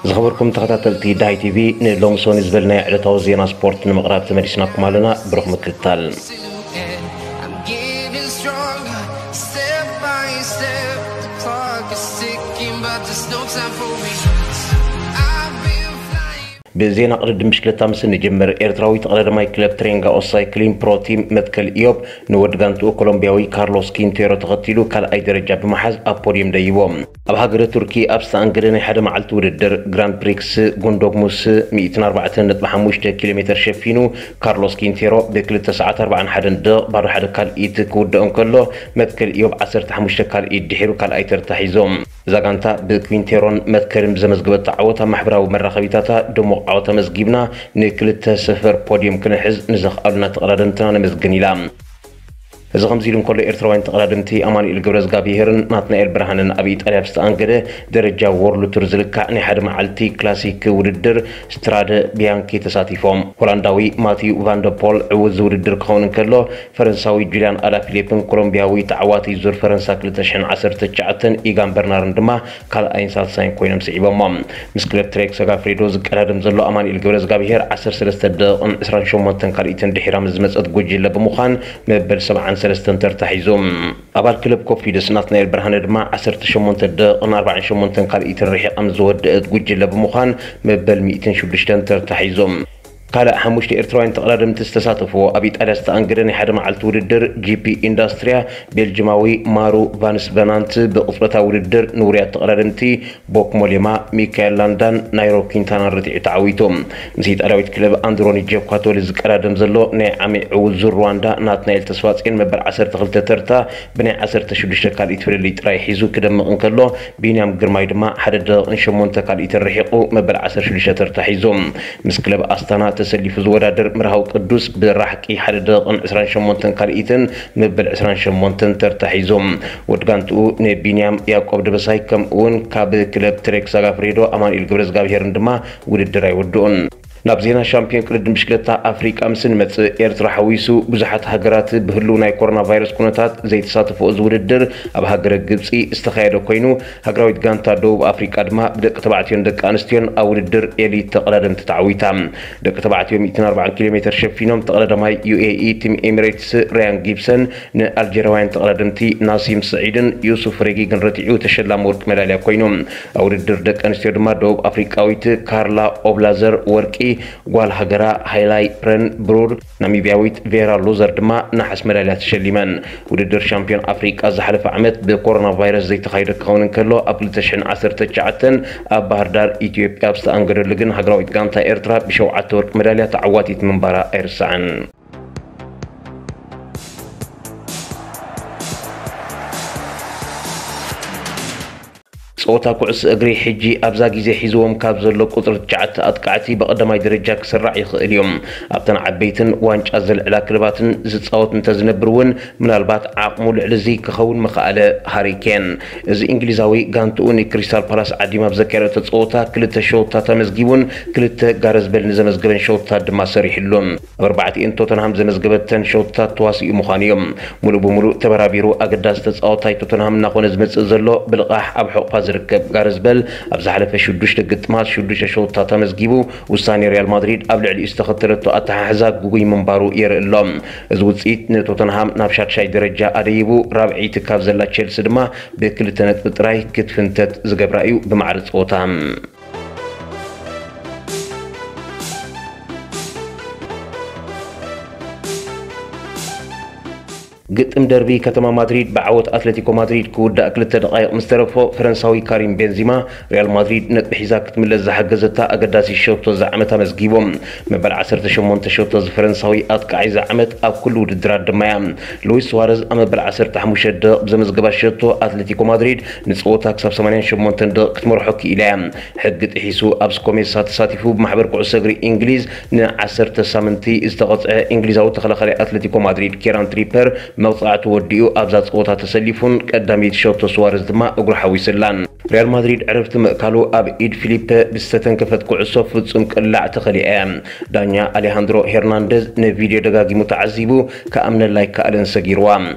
ዝኸበርኩም ተኸታተልቲ ዳሃይ ቲቪ፣ ንሎሚ ሰኑይ ዝበልናዮ ዕለታዊ ዜና ስፖርት ንምቕራብ ተመሊስናኩም ኣለና። ብሩኽ ምክትታል። ብዜና ቅድድም ብሽክለታ ምስ እንጅምር፣ ኤርትራዊ ተቐዳዳማይ ክለብ ትሬንጋ ኦሳይክሊን ፕሮ ቲም መትከል ኢዮብ ንወዲ ጋንትኡ ኮሎምቢያዊ ካርሎስ ኪንቴሮ ተኸቲሉ ካልኣይ ደረጃ ብምሓዝ ኣብ ፖድየም ደይቦ። ኣብ ሃገረ ቱርኪ ኣብ ዝተኣንገደ ናይ ሓደ መዓልቲ ውድድር ግራንድ ፕሪክስ ጉንዶግሙስ ሚእትን ኣርባዕተን ነጥቢ ሓሙሽተ ኪሎ ሜትር ሸፊኑ ካርሎስ ኪንቴሮ ብክልተ ሰዓት ኣርባዓን ሓደን ደቕ ባዶ ሓደ ካልኢት ክውድኦ እንከሎ፣ መትከል ኢዮብ ዓሰርተ ሓሙሽተ ካልኢት ድሒሩ ካልኣይ ተርታ ሒዞም። እዛ ጋንታ ብኩንቴሮን መትከልን ብዘመዝገበቶ ዓወት ኣብ ማሕበራዊ መራኸቢታታ ድሙቕ ዓወት ኣመዝጊብና፣ ንክልተ ስፍር ፖድየም ክንሕዝ ንዘኽኣሉና ተቐዳደምትና ነመስግን ኢላ። እዚ ከምዚ ኢሉ እንከሎ፣ ኤርትራውያን ተቐዳደምቲ ኣማኑኤል ገብረዝጋብሄርን ናትናኤል ብርሃንን ኣብ ኢጣልያ ብዝተኣንገደ ደረጃ ዎርልድ ቱር ዝልካዕ ናይ ሓደ መዓልቲ ክላሲክ ውድድር ስትራደ ቢያንኪ ተሳቲፎም። ሆላንዳዊ ማቲዩ ቫንደፖል ዕዉት ዝውድድር ክኸውን እንከሎ፣ ፈረንሳዊ ጁልያን ኣላፊሊፕን ኮሎምቢያዊ ተዓዋቲ ዙር ፈረንሳ ክልተ ሽሕን ዓሰርተ ትሽዓተን ኢጋን በርናርን ድማ ካልኣይን ሳልሳይን ኮይኖም ስዒቦሞ። ምስ ክለብ ትሬክ ሰጋፍሬዶ ዝቀዳደም ዘሎ ኣማኑኤል ገብረዝጋብሄር ዓሰርተ ሰለስተ ደቂቕን ዕስራን ሸሞንተን ካልኢትን ድሒራ ምስ ዝመጸት ጉጅለ ብምዃን መበል ሰብዓን ሰለስተን ተርታ ሒዙ። ኣባል ክለብ ኮፊደስ ናትናኤል ብርሃነ ድማ ዓሰርተ ሸሞንተ ደቂቕን ኣርባዓን ሸሞንተን ካልኢትን ርሒቓ ምስ ዝወደአት ጉጅለ ብምዃን መበል ሚእትን ሽዱሽተን ተርታ ሒዙ። ካልእ ሓሙሽተ ኤርትራውያን ተቐዳደምቲ ዝተሳተፍዎ ኣብ ኢጣልያ ዝተኣንገደ ናይ ሓደ መዓልቲ ውድድር ጂፒ ኢንዳስትሪያ፣ ቤልጅማዊ ማሩ ቫንስ ቨናንት ብቕጽበታዊ ውድድር ንውሩያት ተቐዳደምቲ ቦክ ሞሌማ፣ ሚካኤል ላንዳን ናይሮ ኪንታናን ረቲዑ ተዓዊቱ። ምስ ኢጣልያዊት ክለብ ኣንድሮኒ ጀኳቶሊ ዝቀዳደም ዘሎ ናይ ዓሚ ዕዉት ዙር ሩዋንዳ ናትናኤል ተስፋጽዮን መበል ዓሰርተ ክልተ ተርታ ብናይ ዓሰርተ ሽዱሽተ ካልኢት ፍልልይ ጥራይ ሒዙ ክደምቕ እንከሎ፣ ቢንያም ግርማይ ድማ ሓደ ደቂቕን ሸሞንተ ካልኢትን ርሒቑ መበል ዓሰርተ ሽዱሽተ ተርታ ሒዙ። ምስ ክለብ ኣስታና ተሰሊፉ ዝወዳደር ምርሃው ቅዱስ ብራሕቂ ሓደ ደቂቕን ዕስራን ሸሞንተን ካልኢትን መበል ዕስራን ሸሞንተን ተርታ ሒዙ። ወዲ ጋንትኡ ንቢንያም ያዕቆብ ደበሳይ ከምኡ እውን ካብ ክለብ ትሬክ ሳጋፍሬዶ ኣማኑኤል ገብረዝጋብሄርን ድማ ውድድር ኣይወድኡን። ናብ ዜና ሻምፒዮን ቅድድም ብሽክለታ ኣፍሪቃ ምስ እንመጽእ፣ ኤርትራ ሓዊሱ ብዙሓት ሃገራት ብህሉው ናይ ኮሮና ቫይረስ ኩነታት ዘይተሳተፍኦ እዚ ውድድር ኣብ ሃገረ ግብጺ ዝተኻየደ ኮይኑ፣ ሃገራዊት ጋንታ ደቡብ ኣፍሪቃ ድማ ብደቂ ተባዕትዮን ደቂ ኣንስትዮን ኣብ ውድድር ኤሊት ተቐዳደምቲ ተዓዊታ። ደቂ ተባዕትዮ ሚእትን ኣርባዓን ኪሎ ሜትር ሸፊኖም ተቐዳዳማይ ዩ ኤ ኢ ቲም ኤሚሬትስ ራያን ጊብሰን ንኣልጀርያውያን ተቐዳደምቲ ናሲም ስዒድን ዩሱፍ ሬጊግን ረቲዑ ተሸላሚ ወርቂ መዳልያ ኮይኑ። ኣብ ውድድር ደቂ ኣንስትዮ ድማ ደቡብ ኣፍሪቃዊት ካርላ ኦብላዘር ወርቂ፣ ጓል ሃገራ ሃይላይ ፕረን ብሩር፣ ናሚብያዊት ቬራ ሉዘር ድማ ነሓስ መዳልያ ተሸሊመን። ውድድር ሻምፒዮን ኣፍሪቃ ዝሓለፈ ዓመት ብኮሮና ቫይረስ ዘይተኻየደ ክኸውን እንከሎ፣ ኣብ ክልተ ሽሕን ዓሰርተ ትሽዓተን ኣብ ባህር ዳር ኢትዮጵያ ኣብ ዝተኣንገደሉ ግን ሃገራዊት ጋንታ ኤርትራ ብሸውዓተ ወርቂ መዳልያ ተዓዋቲት ምንባራ ኣይርሳዕን። ጸወታ ኩዕሶ እግሪ ሕጂ ኣብዛ ግዜ ሒዝዎም ካብ ዘሎ ቁጽሪ ትሽዓተ ኣጥቃዕቲ ብቐዳማይ ደረጃ ክስራዕ ይኽእል እዩ። ኣብተን ዓበይትን ዋንጫ ዘልዕላ ክለባትን ዝጻወት እንተዝነብር እውን፣ ምናልባት ዓቕሙ ልዕሊ እዚ ክኸውን ምኽኣለ። ሃሪ ኬን፣ እዚ እንግሊዛዊ ጋንትኡ ንክሪስታል ፓላስ ዓዲማ ኣብ ዘካየደቶ ጸወታ ክልተ ሸውታት ኣመዝጊቡን ክልተ ጋረዝ በል ንዘመዝገበን ሸውታት ድማ ሰሪሕሉን። ኣብ ኣርባዕቲኤን ቶተንሃም ዘመዝገበተን ሸውታት ተዋሲኡ ምዃኑ እዮም። ሙሉእ ብሙሉእ ተበራቢሩ ኣገዳሲ ተጻዋታይ ቶተንሃም እናኾነ ዝመጽእ ዘሎ ብልቓሕ ኣብ ሕቑፋ ዝርከብ ጋረዝ በል ኣብ ዝሓለፈ ሽዱሽተ ግጥማት ሽዱሽተ ሸውታት ኣመዝጊቡ፣ ውሳኔ ሪያል ማድሪድ ኣብ ልዕሊኡ ዝተኸተለቶ ኣተሓሕዛ ግጉይ ምንባሩ የርኢ ኣሎ። እዚ ውጽኢት ንቶተንሃም ናብ ሻድሻይ ደረጃ ኣደይቡ፣ ራብዐይቲ ካብ ዘላ ቼልሲ ድማ ብክልተ ነጥቢ ጥራይ ክትፍንተት ዝገብራ እዩ ብማዕረ ጸወታ። ግጥም ደርቢ ከተማ ማድሪድ ብዓወት ኣትሌቲኮ ማድሪድ ክውዳእ ክልተ ደቓይቕ ምስ ተረፎ፣ ፈረንሳዊ ካሪም ቤንዚማ ሪያል ማድሪድ ነጥቢ ሒዛ ክትምለስ ዝሓገዘታ ኣገዳሲ ሸቶ እዚ ዓመት ኣመዝጊቦም። መበል ዓሰርተ ሸሞንተ ሸቶ እዚ ፈረንሳዊ ኣጥቃዒ እዚ ዓመት ኣብ ኩሉ ውድድራት ድማ እያ። ሉዊስ ሱዋረዝ ኣብ መበል ዓሰርተ ሓሙሽተ ደቕ ብዘመዝገባ ሸቶ ኣትሌቲኮ ማድሪድ ንጸወታ ክሳብ ሰማንያን ሸሞንተን ደቕ ክትመርሖ ክኢላ እያ። ሕጊ ጥሒሱ ኣብ ስኮሜሳ ተሳቲፉ ብማሕበር ኩዕሶ እግሪ እንግሊዝ ንዓሰርተ ሳምንቲ ዝተቐጽዐ እንግሊዛዊ ተኸላኻሊ ኣትሌቲኮ ማድሪድ ኬራን ትሪፐር መቕጻዕቱ ወዲኡ ኣብዛ ጸወታ ተሰሊፉን ቀዳመይቲ ሸቶ ሱዋረዝ ድማ እግሩ ሓዊስላን። ሪያል ማድሪድ ዕረፍቲ ምእካሉ ኣብ ኢድ ፊሊፐ ብዝተተንከፈት ኩዕሶ ፍጹም ቅላዕ ተኸሊኣ እያ። ዳኛ ኣሌሃንድሮ ሄርናንደዝ ንቪድዮ ደጋጊሙ ተዓዚቡ፣ ክኣምነላ ኣይከኣለን፣ ሰጊርዋ።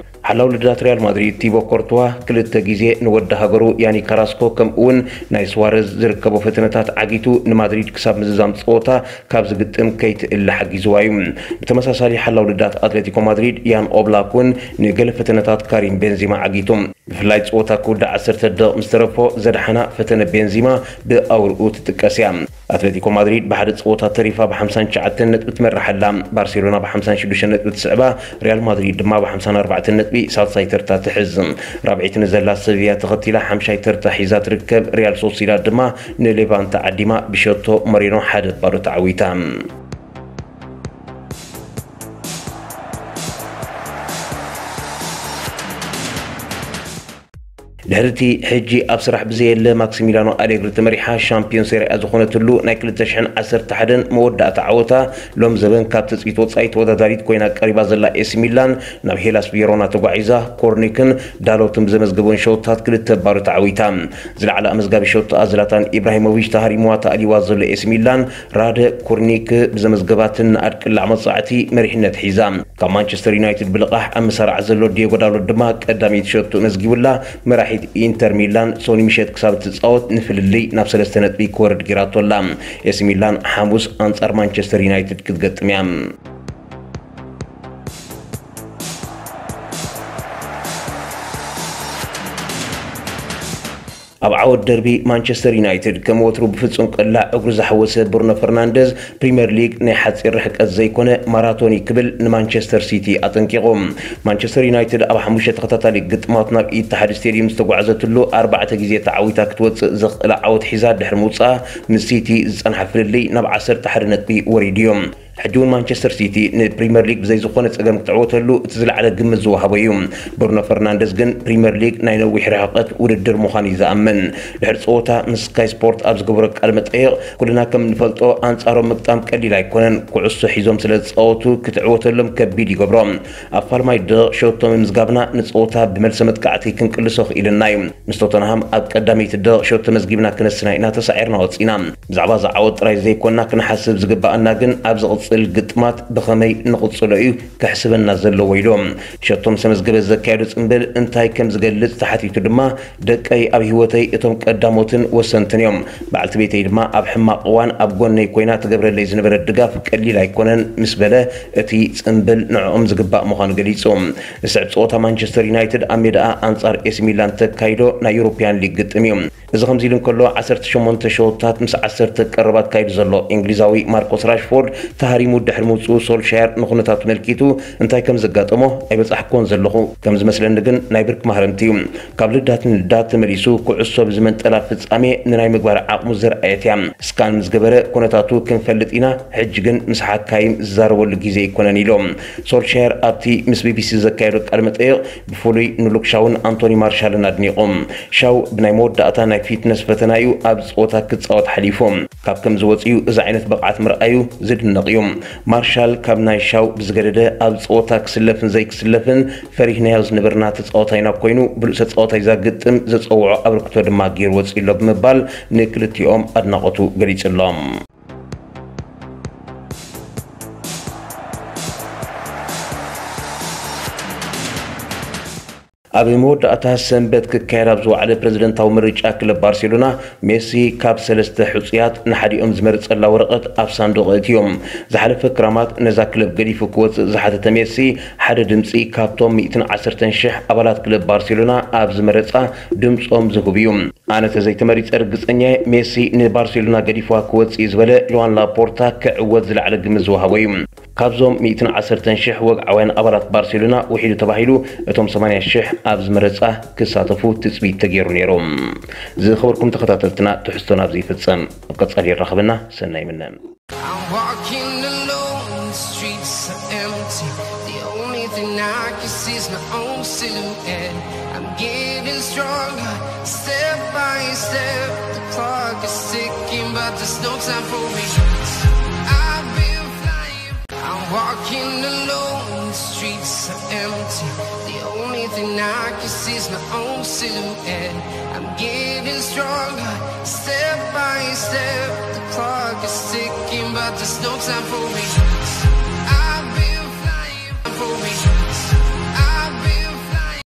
ሓላው ልዳት ሪያል ማድሪድ ቲቦ ኮርቱዋ ክልተ ግዜ ንወዲ ሃገሩ ያኒ ካራስኮ ከምኡ እውን ናይ ስዋረዝ ዝርከቦ ፈተነታት ዓጊቱ ንማድሪድ ክሳብ ምዝዛም ፀወታ ካብ ዝግጥም ከይትእለ ሓጊዝዋ እዩ። ብተመሳሳሊ ሓላው ልዳት ኣትሌቲኮ ማድሪድ ያን ኦብላክ እውን ንገለ ፈተነታት ካሪም ቤንዚማ ዓጊቱ። ብፍላይ ፀወታ ክውዳእ ዓሰርተ ደቕ ምስ ተረፎ ዘድሓና ፈተነ ቤንዚማ ብኣውርኡ ትጥቀስ እያ። ኣትሌቲኮ ማድሪድ ብሓደ ፀወታ ተሪፋ ብ59 ነጥቢ ትመርሕ ኣላ። ባርሴሎና ብ56 ነጥቢ ትስዕባ፣ ሪያል ማድሪድ ድማ ብ54 ነጥቢ ሳልሳይ ተርታ ትሕዝ። ራብዒት ንዘላ ሰቪያ ተኸቲላ ሓምሻይ ተርታ ሒዛ ትርከብ። ሪያል ሶሲዳድ ድማ ንሌቫንተ ዓዲማ ብሸቶ መሪኖ ሓደ ባዶ ተዓዊታ። ድሕሪ እቲ ሕጂ ኣብ ስራሕ ብዘየለ ማክሲሚላኖ ኣሌግሪ ተመሪሓ ሻምፒዮን ሴሪኣ ዝኾነትሉ ናይ ክልተ ሽሕን ዓሰርተ ሓደን መወዳእታ ዓወታ ሎም ዘበን ካብ ትጽቢት ወጻኢ ተወዳዳሪት ኮይና ቀሪባ ዘላ ኤሲ ሚላን ናብ ሄላስ ቬሮና ተጓዒዛ ኮርኒክን ዳሎትን ብዘመዝገቦን ሸውታት ክልተ ባዶ ተዓዊታ። ዝለዓለ ኣመዝጋቢ ሸውታ ዝላታን ኢብራሂሞቪች ተሃሪምዋ ተኣሊዋ ዘሎ ኤሲ ሚላን ራደ ኮርኒክ ብዘመዝገባትን ንኣድ ቅላዕ መጻዕቲ መሪሕነት ሒዛ። ካብ ማንቸስተር ዩናይትድ ብልቓሕ ኣብ መሳርዓ ዘሎ ዲየጎ ዳሎት ድማ ቀዳመይቲ ሸቶ መዝጊቡላ። መራሒት ኢንተር ሚላን ሶኒ ምሸት ክሳብ እትጻወት ንፍልልይ ናብ ሰለስተ ነጥቢ ክወርድ ጌራቶ ኣላ። ኤሲ ሚላን ሓሙስ ኣንጻር ማንቸስተር ዩናይትድ ክትገጥም እያ። ኣብ ዓወት ደርቢ ማንቸስተር ዩናይትድ ከም ወትሩ ብፍጹም ቅላዕ እግሩ ዝሓወሰ ብሩኖ ፈርናንደዝ ፕሪምየር ሊግ ናይ ሓጺር ርሕቀት ዘይኮነ ማራቶን እዩ ክብል ንማንቸስተር ሲቲ ኣጠንቂቑ። ማንቸስተር ዩናይትድ ኣብ ሓሙሽተ ተኸታታሊ ግጥማት ናብ ኢትሓድ ስቴዲየም ዝተጓዕዘትሉ ኣርባዕተ ግዜ ተዓዊታ ክትወጽእ ዘኽእላ ዓወት ሒዛ ድሕሪ ምውጽኣ ምስ ሲቲ ዝጸንሓ ፍልልይ ናብ ዓሰርተ ሓደ ነጥቢ ወሪዱ እዩ። ሕጂ እውን ማንቸስተር ሲቲ ንፕሪምየር ሊግ ብዘይ ዝኾነ ጸገም ክትዕወተሉ እቲ ዝለዓለ ግምት ዝወሃቦ እዩ። ብሩኖ ፈርናንደዝ ግን ፕሪምየር ሊግ ናይ ነዊሕ ርሕቀት ውድድር ምዃኑ እዩ ዝኣምን። ድሕሪ ጸወታ ምስ ስካይ ስፖርት ኣብ ዝገበሮ ቃለ መጠይቕ፣ ኩልና ከም እንፈልጦ ኣንጻሮም ምግጣም ቀሊል ኣይኮነን። ኩዕሶ ሒዞም ስለ ዝጻወቱ ክትዕወተሎም ከቢድ ይገብሮ። ኣብ ፋልማይ ደቕ ሸቶ ምምዝጋብና ንጸወታ ብመልሰ መጥቃዕቲ ክንቅልሶ ክኢልና እዩ። ምስ ቶተንሃም ኣብ ቀዳመይቲ ደቕ ሸቶ መዝጊብና ክነስና ኢና ተሳዒርና ወጺና። ብዛዕባ እዚ ዓወት ጥራይ ዘይኮንና ክንሓስብ ዝግባኣና ግን ኣብ ዝቕጽል ግጥማት ብኸመይ ንቕጽሎ እዩ ከሕስበና ዘለዎ ኢሉ። ሸቶ ምስ ኣመዝገበት ዘካየዶ ጽምብል እንታይ ከም ዝገልጽ ተሓቲቱ ድማ፣ ደቀይ ኣብ ህይወተይ እቶም ቀዳሞትን ወሰንትን እዮም። በዓልቲ ቤተይ ድማ ኣብ ሕማቕ እዋን ኣብ ጎነይ ኮይና ትገብረለይ ዝነበረት ድጋፍ ቀሊል ኣይኮነን ምስ በለ፣ እቲ ጽምብል ንዕኦም ዝግባእ ምዃኑ ገሊጹ። ዝስዕብ ጸወታ ማንቸስተር ዩናይትድ ኣብ ሜዳኣ ኣንጻር ኤሲ ሚላን ተካይዶ ናይ ዩሮፕያን ሊግ ግጥም እዩ። እዚ ከምዚ ኢሉ እንከሎ፣ ዓሰርተ ሸሞንተ ሸወታት ምስ ዓሰርተ ቀረብ ኣካይዱ ዘሎ እንግሊዛዊ ማርኮስ ራሽፎርድ ተሃሪሙ ድሕሪ ምውጽኡ፣ ሶልሻየር ንኹነታቱ መልኪቱ እንታይ ከም ዘጋጠሞ ኣይበጻሕኩዎን ዘለኹ። ከም ዝመስለኒ ግን ናይ ብርክ ማህረምቲ እዩ። ካብ ልዳት ንልዳት ተመሊሱ ኩዕሶ ብዝመንጠላ ፍጻሜ ንናይ ምግባር ዓቕሙ ዘርኣየት እያ። ስካን ምስ ገበረ ኩነታቱ ክንፈልጥ ኢና፣ ሕጂ ግን ምስ ሓካይም ዝዛረበሉ ግዜ ኣይኮነን ኢሎም። ሶልሻየር ኣብቲ ምስ ቢቢሲ ዘካየዶ ቃለ መጠይቕ ብፍሉይ ንሉክ ሻውን ኣንቶኒ ማርሻልን ኣድኒቑ። ሻው ብናይ መወዳእታ ናይ ፊትነስ ፈተና እዩ ኣብ ጸወታ ክጻወት ሓሊፉ። ካብ ከም ዝወጽእ እዩ እዚ ዓይነት ብቕዓት ምርኣዩ ዝድነቕ እዩ። ማርሻል ካብ ናይ ሻው ብዝገደደ ኣብ ጸወታ ክስለፍን ዘይክስለፍን ፈሪህናዮ ዝነበርና ተጻዋታይ ናብ ኮይኑ ብሉጽ ተጻዋታይ ዛግጥም ዘጸውዖ ኣበርክቶ ድማ ገይሩ ወጺኡ ኣሎ ብምባል ንክልቲኦም ኣድናቖቱ ገሊጹሎም። ኣብ መወዳእታ ሰንበት ክካየድ ኣብ ዝወዓለ ፕረዚደንታዊ ምርጫ ክለብ ባርሴሎና ሜሲ ካብ ሰለስተ ሕጹያት ንሓዲኦም ዝመርጸላ ወረቐት ኣብ ሳንዱቕ ኣእትዮም። ዝሓለፈ ክራማት ነዛ ክለብ ገዲፉ ክወጽእ ዝሓተተ ሜሲ ሓደ ድምጺ ካብቶም ሚእትን ዓሰርተን ሽሕ ኣባላት ክለብ ባርሴሎና ኣብ ዝመረጻ ድምጾም ዝህቡ እዩ። ኣነ ተዘይተመሪጸ ርግጸኛ እየ፣ ሜሲ ንባርሴሎና ገዲፍዋ ክወጽእ እዩ ዝበለ ሉዋን ላፖርታ ክዕወት ዝለዓለ ግምት ዝወሃቦ እዩ። ካብዞም ሚእትን ዓሰርተን ሽሕ ወግዓውያን ኣባላት ባርሴሎና ውሒዱ ተባሂሉ እቶም ሰማንያ ሽሕ ኣብ ዝመረጻ ክሳተፉ ትጽቢት ተገይሩ ነይሩ። ዝኸበርኩም ተኸታተልትና ትሕዝቶና ኣብዚ ይፍጸም። ኣብ ቀጻሊ ይራኸበና። ሰናይ ምነ። I'm walking alone, the streets are empty. The only thing I can see is my own silhouette. I'm getting stronger, step by step. The clock is ticking, but there's no time for regrets. I've been flying. I'm walking alone, the streets are empty. The only thing I can see is my own silhouette. I'm getting stronger, step by step. The clock is ticking, but there's no time for regrets. I've been flying for regrets.